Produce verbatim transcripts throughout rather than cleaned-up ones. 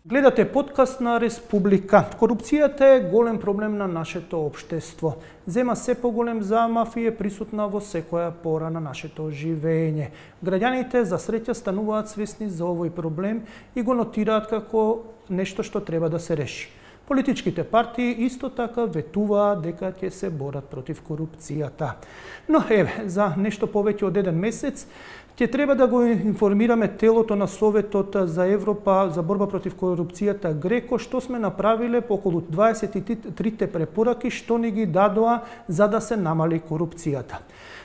Гледате подкаст на Республика. Корупцијата е голем проблем на нашето општество. Зема се поголем замав и е присутна во секоја пора на нашето живење. Граѓаните за среќа стануваат свесни за овој проблем и го нотираат како нешто што треба да се реши. Политичките партии исто така ветуваат дека ќе се борат против корупцијата. Но еве, за нешто повеќе од еден месец ќе треба да го информираме телото на Советот за Европа за борба против корупцијата Греко, што сме направиле по околу дваесет и трите препораки што ни ги дадоа за да се намали корупцијата.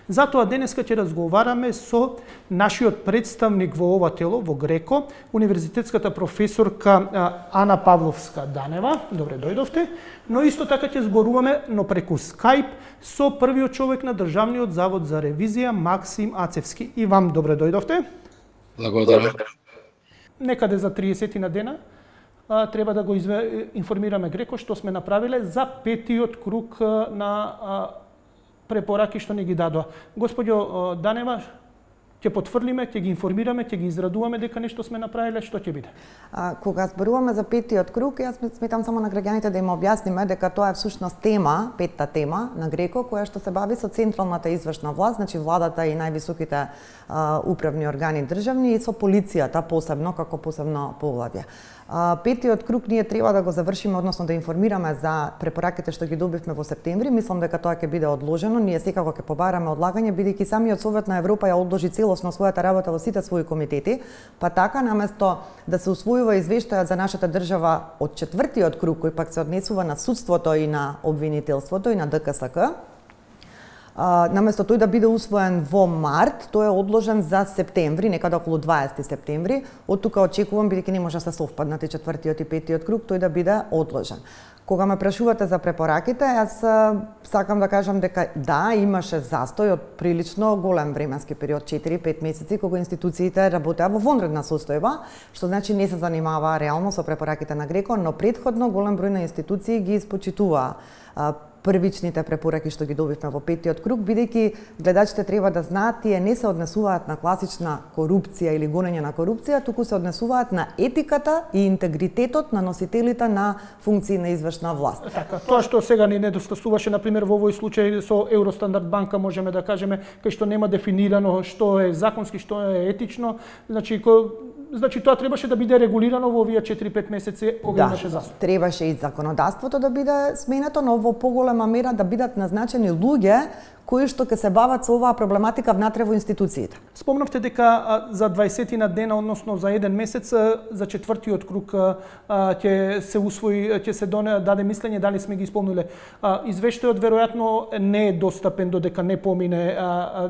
Затоа денеска ќе разговараме со нашиот представник во ова тело, во Греко, универзитетската професорка Ана Павловска-Данева. Добре дојдовте. Но исто така ќе зборуваме, но преку Скајп, со првиот човек на Државниот завод за ревизија, Максим Ацевски. И вам добре дојдовте. Благодарам. Некаде за триесет на дена а, треба да го изве... информираме Греко што сме направиле за петиот круг на а, препораки што ни ги дадоа. Господјо Данева, ќе потврлиме, ќе ги информираме, ќе ги израдуваме дека нешто сме направиле, што ќе биде? А, кога зборуваме за петиот круг, јас сметам само на граѓаните да им објасниме дека тоа е всушност тема, петта тема на Греко, која што се бави со централната извршна власт, значи владата и највисоките а, управни органи државни и со полицијата посебно како посебно поглавје. А, петиот круг ние треба да го завршиме, односно да информираме за препораките што ги добивме во септември. Мислам дека тоа ќе биде одложено. Ние секако ќе побараме одлагање, бидејќи самиот Совет на Европа ја одложи целосно својата работа во сите своји комитети, па така наместо да се усвојува извештајот за нашата држава од четвртиот круг, кој пак се однесува на судството и на обвинителството и на Д К С К, Uh, наместо тој да биде усвоен во март, тој е одложен за септември, некаде околу дваесети септември. Од тука очекувам, бидејќи не може да се совпаднат и четвртиот и петиот круг, тој да биде одложен. Кога ме прашувате за препораките, јас сакам да кажам дека да, имаше застој од прилично голем временски период, четири-пет месеци, кога институциите работеа во вонредна состојба, што значи не се занимаваа реално со препораките на Греко, но претходно голем број на институции ги испочитуваа првичните препораки што ги добивме во петиот круг, бидејќи гледачите треба да знаат, тие не се однесуваат на класична корупција или гонење на корупција, туку се однесуваат на етиката и интегритетот на носителите на функции на извршна власт. Така, тоа што сега ни недостасуваше, например, во овој случај со Евростандард банка, можеме да кажеме, кај што нема дефинирано што е законски, што е етично, значи ко... Значи тоа требаше да биде регулирано во овие четири-пет месеци кога да, имаше застој. Требаше и законодавството да биде сменето, но во поголема мера да бидат назначени луѓе кои што ќе се бават со оваа проблематика внатре во институциите. Спомнавте дека за дваесет на дена, односно за еден месец, за четвртиот круг ќе се усвои, ќе се даде мислење дали сме ги исполниле. Извештајот веројатно не е достапен додека не помине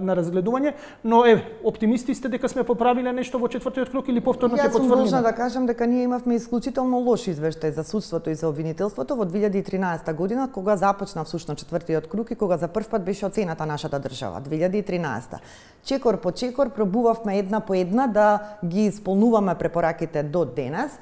на разгледување, но е оптимисти сте дека сме поправиле нешто во четвртиот круг или повторно ќе потврдиме? Јас сум должна да кажам дека ние имавме исклучително лош извештај за судството и за обвинителството во две илјади и тринаесета година, кога започна всушност четвртиот круг и кога за прв пат беше оценета нашата држава, две илјади и тринаесета. Чекор по чекор пробувавме една по една да ги исполнуваме препораките до денес.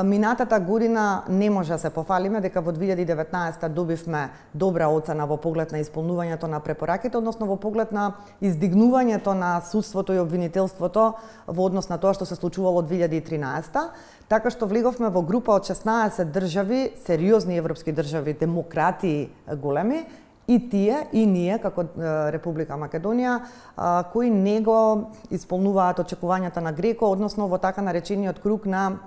Минатата година не може да се пофалиме дека во две илјади и деветнаесета добивме добра оцена во поглед на исполнувањето на препораките, односно во поглед на издигнувањето на судството и обвинителството во однос на тоа што се случувало две илјади и тринаесета, така што влеговме во група од шеснаесет држави, сериозни европски држави, демократии големи, и тие, и ние, како Република Македонија, кои не го исполнуваат очекувањата на Греко, односно во така наречениот круг на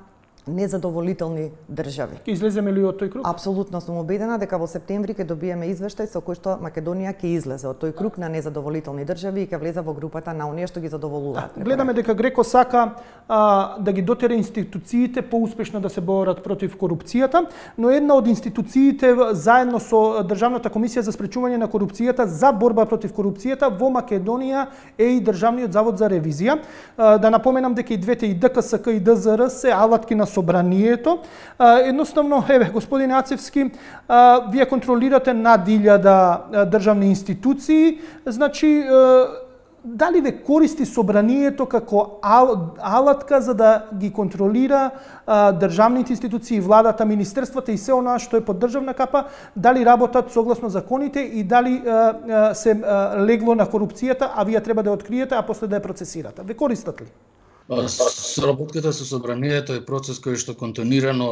незадоволителни држави. Ќе излеземе ли од тој круг? Апсолутно сум убедена дека во септември ќе добиеме извештај со кој што Македонија ќе излезе од тој круг на незадоволителни држави и ќе влезе во групата на оние што ги задоволуваат. Да, гледаме дека Греко сака а, да ги дотера институциите поуспешно да се борат против корупцијата, но една од институциите заедно со Државната комисија за спречување на корупцијата за борба против корупцијата во Македонија е и Државниот завод за ревизија. А, да напоменам дека и двете, и Д К С К и Д З Р се алатки на собранието. Едноставно, еве, господине Ацевски, вие контролирате над илјада државни институции, значи, дали ве користи собранието како алатка за да ги контролира државните институции, владата, министерствата и се она што е под државна капа, дали работат согласно законите и дали се легло на корупцијата, а вие треба да ја откриете, а после да ја процесирате? Ве користат ли? Соработката со собранието е процес кој што континуирано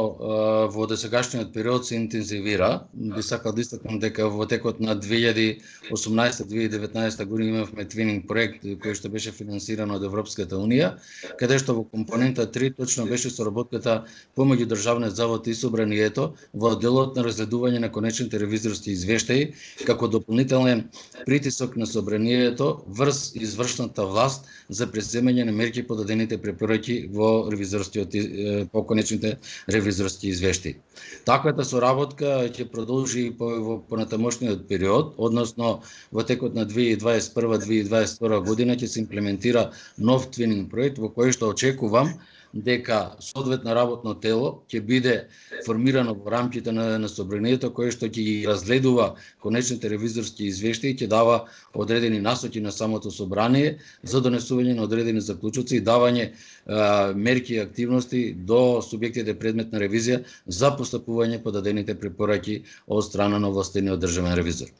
во досегашниот период се интензивира. Би сакал да истакнам дека во текот на две илјади и осумнаесета - две илјади и деветнаесета година имавме твининг проект кој што беше финансиран од Европската унија, каде што во компонента три точно беше соработката помеѓу Државниот завод и собранието во делот на разгледување на конечните ревизорски извештаи како дополнителен притисок на собранието врз извршната власт за преземање на мерки по дадените препораки во ревизорскиот по конечните ревизорски извештаи. Таквата соработка ќе продолжи по во понатамошниот период, односно во текот на две илјади и дваесет и прва - две илјади и дваесет и втора година ќе се имплементира нов твининг проект во кој што очекувам дека соодветно работно тело ќе биде формирано во рамките на, на собранието кој што ќе ги разгледува конечните ревизорски извештаи и ќе дава одредени насоки на самото собрание за донесување на одредени заклучоци и давање а, мерки и активности до субјектите предмет на ревизија за постапување по дадените препораки од страна на овластениот државен ревизор.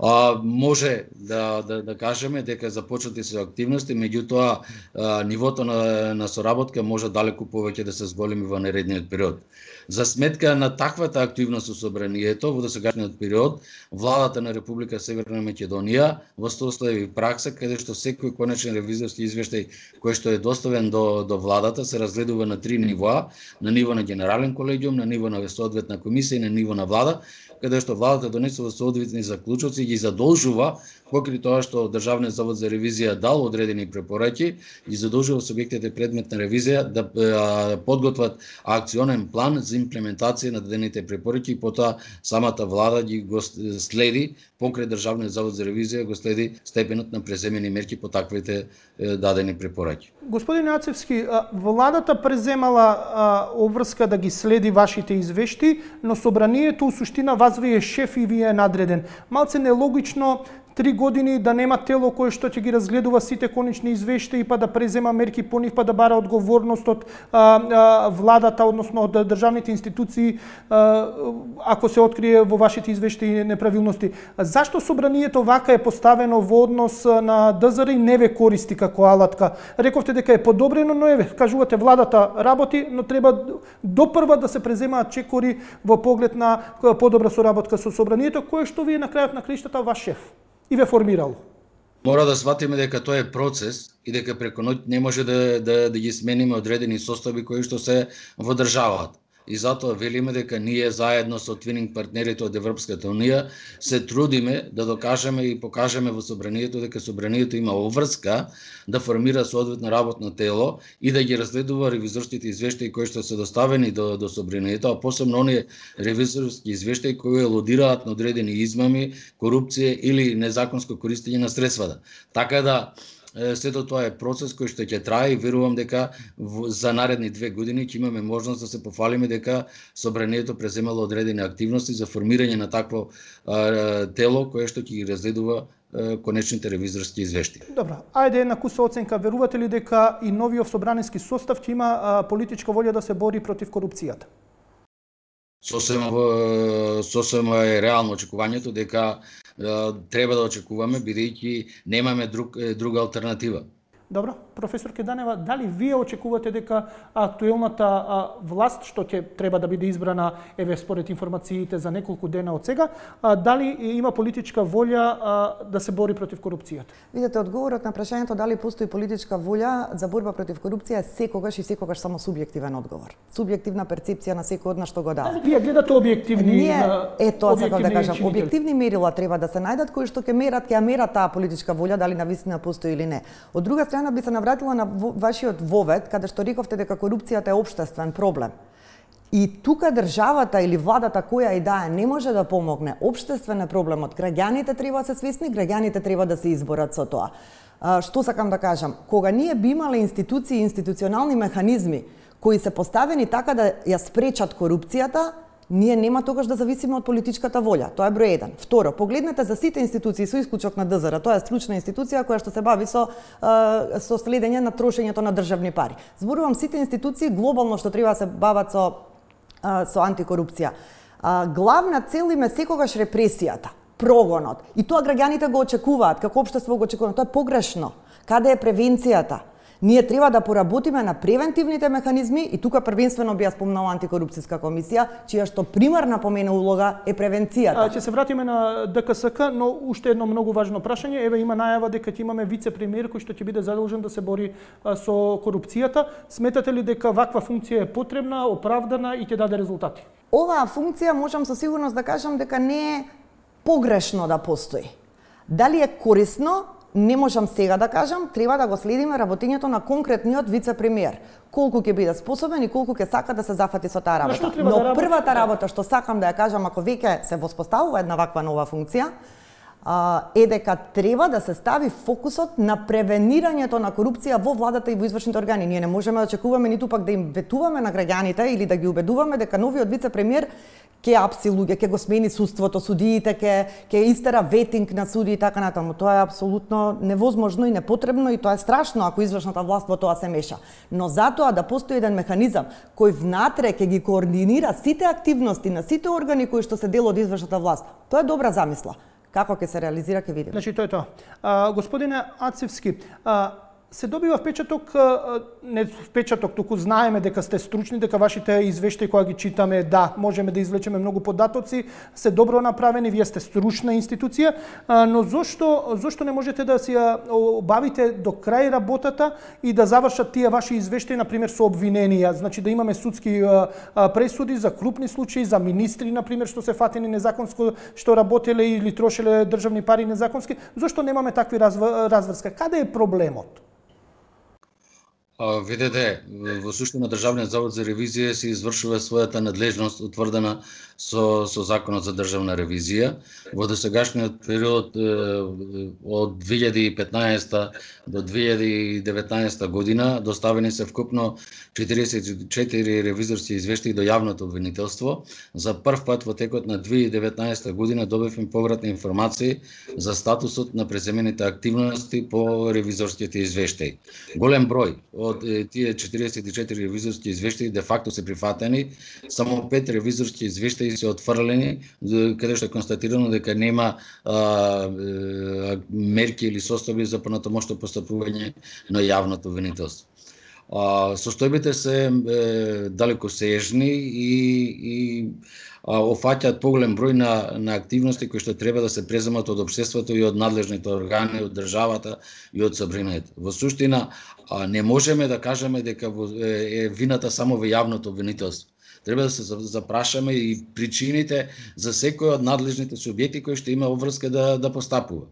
А, може да, да, да кажеме дека започнати се активности, меѓутоа а, нивото на, на соработка може далеку повеќе да се зголеми во наредниот период. За сметка на таквата активност со собранието во досегашниот период, владата на Република Северна Македонија востостави пракса каде што секој конечен ревизорски извештај кој што е доставен до, до владата се разгледува на три нивоа, на ниво на генерален колегиум, на ниво на соодветна комисија и на ниво на влада, каде што владата донесува соодветни заклучоци и ги задолжува, покрај тоа што Државниот завод за ревизија дал одредени препораки, ги задолжува субјектите предмет на ревизија да а, подготват акционен план за имплементација на дадените препораки и потоа самата влада ги го следи, покрај Државниот завод за ревизија го следи степенот на преземени мерки по таквите е, дадени препораки. Господин Јацевски, владата преземала обврска да ги следи вашите извешти, но собранието у суштина вас ви е шеф и ви е надреден. Малце нелогично три години да нема тело кое што ќе ги разгледува сите конечни извештаи па да презема мерки по нив, па да бара одговорност од а, а, владата, односно од државните институции, а, ако се открие во вашите извештаи неправилности. Зашто собранието вака е поставено во однос на ДЗР и не ве користи како алатка? Рековте дека е подобрено, но еве, кажувате владата работи, но треба допрва да се преземаат чекори во поглед на подобра соработка со собранието, кое што вие на крајот на криштата ваш шеф и ве формирало. Мора да сватиме дека тоа е процес и дека преку ноќ не може да, да, да ги смениме одредени состави кои што се во државата. И затоа велиме дека ние заедно со твининг партнерите од Европската унија се трудиме да докажеме и покажеме во собранието дека собранието има обврска да формира соодветно работно тело и да ги разгледува ревизорските извештаи кои што се доставени до, до собранието, а посебно оние ревизорски извештаи кои елудираат на одредени измами, корупција или незаконско користење на средствата. Така да сето тоа е процес кој што ќе трае и верувам дека за наредни две години ќе имаме можност да се пофалиме дека собранието преземало одредени активности за формирање на такво а, тело кое што ќе ги разгледува а, конечните ревизорски извештаи. Добро, ајде една куса оценка. Верувате ли дека и новиот собраниски состав ќе има а, политичка волја да се бори против корупцијата? Сосема, сосема е реално очекувањето дека треба да очекуваме, бидејќи немаме друг, друга алтернатива. Добро, професор Кеданева, дали вие очекувате дека актуелната а, власт, што ќе треба да биде избрана, еве според информациите за неколку дена од сега, а, дали има политичка волја а, да се бори против корупцијата? Видете, одговорот на прашањето дали постои политичка волја за борба против корупција е секогаш и секогаш само субјективен одговор. Субјективна перцепција на секој од нас што го дава. Вие гледате објективни Ние, е тоа сакам да кажам, објективни мерила треба да се најдат кои што ќе мерат, ќе ја мерат таа политичка волја дали навистина постои или не. Од друга страна би се навратила на вашиот вовед, каде што рековте дека корупцијата е општествен проблем. И тука државата или владата која и да е не може да помогне. Општествен е проблемот. Граѓаните треба да се свесни, граѓаните треба да се изборат со тоа. А, што сакам да кажам? Кога ние би имале институции и институционални механизми кои се поставени така да ја спречат корупцијата, ние нема тогаш да зависиме од политичката волја. Тоа е број еден. Второ, погледнете за сите институции со исклучок на ДЗР, тоа е стручна институција која што се бави со со следење на трошењето на државни пари. Зборувам сите институции глобално што треба да се бават со со антикорупција. Главна цел им е секогаш репресијата, прогонот. И тоа граѓаните го очекуваат, како општество го очекуваат. Тоа е погрешно. Каде е превенцијата? Ние треба да поработиме на превентивните механизми и тука првенствено би ја спомнала антикорупцијска комисија, чија што примарна по мене улога е превенцијата. А, ќе се вратиме на ДКСК, но уште едно многу важно прашање. Еве има најава дека ќе имаме вице-премиер кој што ќе биде задолжен да се бори а, со корупцијата. Сметате ли дека ваква функција е потребна, оправдана и ќе даде резултати? Оваа функција можам со сигурност да кажам дека не е погрешно да постои. Дали е корисно, не можам сега да кажам, треба да го следиме работењето на конкретниот вице-премиер. Колку ќе биде способен и колку ќе сака да се зафати со таа работа. Но да првата работа што сакам да ја кажам, ако веќе се воспоставува една ваква нова функција, е дека треба да се стави фокусот на превенирањето на корупција во владата и во извршните органи. Ние не можеме да очекуваме ниту пак да им ветуваме на граѓаните или да ги убедуваме дека новиот вице-премиер ќе апси луѓе, ќе го смени судството, судиите, ќе ќе истера ветинг на суди и така натаму. Тоа е апсолутно невозможно и непотребно и тоа е страшно ако извршната власт во тоа се меша. Но затоа да постои еден механизам кој внатре ќе ги координира сите активности на сите органи кои што се дел од извршната власт. Тоа е добра замисла. Како ќе се реализира, ќе видиме. Значи, тоа е тоа. А, господине Ацевски, а, се добива впечаток, а, не впечаток, туку знаеме дека сте стручни, дека вашите извештаи кога ги читаме, да, можеме да извлечеме многу податоци, се добро направени, вие сте стручна институција, а, но зошто, зошто не можете да си ја обавите до крај работата и да завршат тие ваши извештаи, например, со обвиненија, значи да имаме судски а, а, пресуди за крупни случаи, за министри, например, што се фатени незаконско, што работеле или трошеле државни пари незаконски, зошто немаме такви разврска? Каде е проблемот? Видете, во суштина Државниот завод за ревизија се извршува својата надлежност утврдена со, со Законот за државна ревизија. Во досегашниот период од две илјади и петнаесета до две илјади и деветнаесета година доставени се вкупно четиридесет и четири ревизорски извештаи до јавното обвинителство. За прв пат во текот на две илјади и деветнаесета година добивме повратни информации за статусот на преземените активности по ревизорските извештаи. Голем број од тие четиридесет и четири ревизорски извештаи де факто се прифатени, само пет ревизорски извештаи се отфрлени, каде што е констатирано дека нема а, а, мерки или состојби за понатомошно постапување на јавното обвинителство. А, состојбите се е, далекосежни и, и офаќаат поголем број на, на активности кои што треба да се преземат од општеството и од надлежните органи, од државата и од собранието. Во суштина, не можеме да кажеме дека е вината само во јавното обвинителство. Треба да се запрашаме и причините за секој од надлежните субјекти кои што има обврска да, да постапува.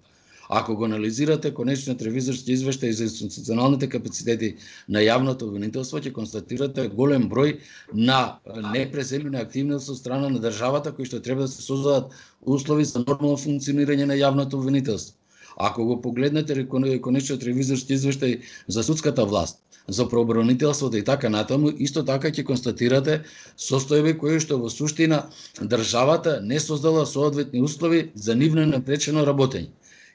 Ако го анализирате конечниот ревизорски извештај за институционалните капацитети на јавното обвинителство, ќе констатирате голем број на непреземени активности од страна на државата кои што треба да се создадат услови за нормално функционирање на јавното обвинителство. Ако го погледнете конечниот ревизорски извештај за судската власт, за правобранителството и така натаму, исто така ќе констатирате состојби кои што во суштина државата не создала соодветни услови за нивно напречено работење.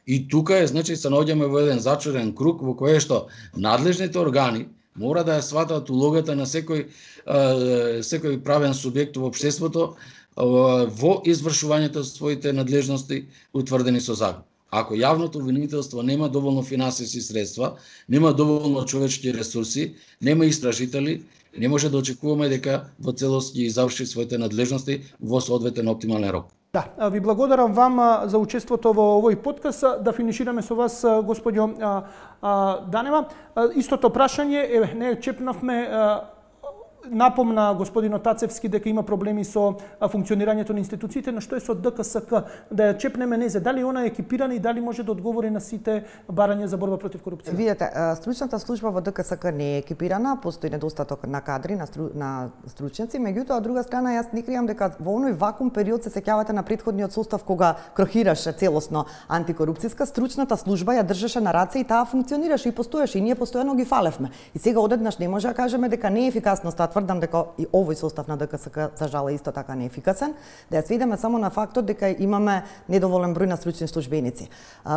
И тука е, значи, се наоѓаме во еден зачарен круг во кој што надлежните органи мора да ја сватат улогата на секој секој правен субјект во општеството во извршувањето своите надлежности утврдени со закон. Ако јавното обвинителство нема доволно финансиски средства, нема доволно човечки ресурси, нема истражители, не може да очекуваме дека во целост ги заврши своите надлежности во соодветен оптимален рок. Да, ви благодарам вам за учеството во овој подкаст. Да финишираме со вас, господјо Данева. Истото прашање, еве, не чепнавме, напомна господинот Тацевски дека има проблеми со функционирањето на институциите, на што е со ДКСК, да ја чепнеме незе, дали она е екипирана и дали може да одговори на сите барања за борба против корупција? Видете, стручната служба во ДКСК не е екипирана, постои недостаток на кадри, на, стру, на стручњаци, меѓутоа од друга страна јас не кријам дека во оној вакуум период се сеќавате на претходниот состав кога крохираше целосно антикорупцијска, стручната служба ја држеше на раце и таа функционираше и постоеше и ние постојано ги фалевме. И сега одеднаш не може да кажеме дека не е ефикасноста. Тврдам дека и овој состав на ДКСК за жал исто така неефикасен, да ја сведеме само на фактот дека имаме недоволен број на стручни службеници.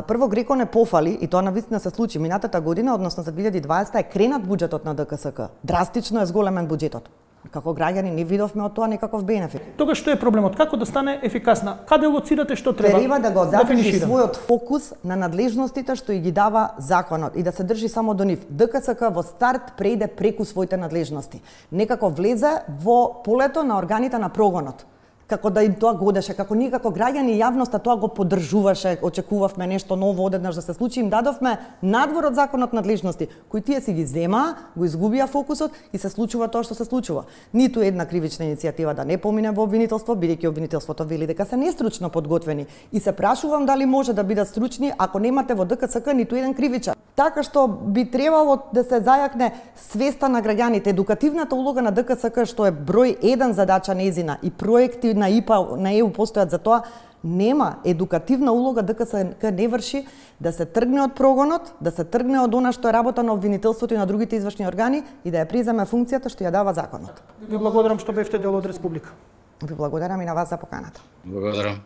Прво Греко не пофали и тоа навистина се случи минатата година, односно за две илјади и дваесета е кренат буџетот на ДКСК. Драстично е зголемен буџетот. Како граѓани не видовме од тоа никаков бенефит. Тогаш што е проблемот? Како да стане ефикасна? Каде лоцирате што треба? Треба да го задржи дефинишира? својот фокус на надлежностите што и ги дава законот и да се држи само до нив. ДКСК во старт преиде преку своите надлежности. Некако влезе во полето на органите на прогонот. Како да им тоа годеше, како ние како граѓани и јавноста тоа го поддржуваше, очекувавме нешто ново одеднаш да се случи, им дадовме надвор од законот надлежности, кои тие си ги зема, го изгубија фокусот и се случува тоа што се случува. Ниту една кривична иницијатива да не помине во обвинителство, бидејќи обвинителството вели дека се нестручно подготвени. И се прашувам дали може да бидат стручни ако немате во ДКСК ниту еден кривичар. Така што би требало да се зајакне свеста на граѓаните, едукативната улога на ДКСК што е број еден задача нејзина и проекти на ИПА, на ЕУ постојат за тоа, нема едукативна улога ДКСК не врши да се тргне од прогонот, да се тргне од она што е работа на обвинителството и на другите извршни органи и да ја преземе функцијата што ја дава законот. Ви благодарам што бевте дел од Република. Ви благодарам и на вас за поканата. Благодарам.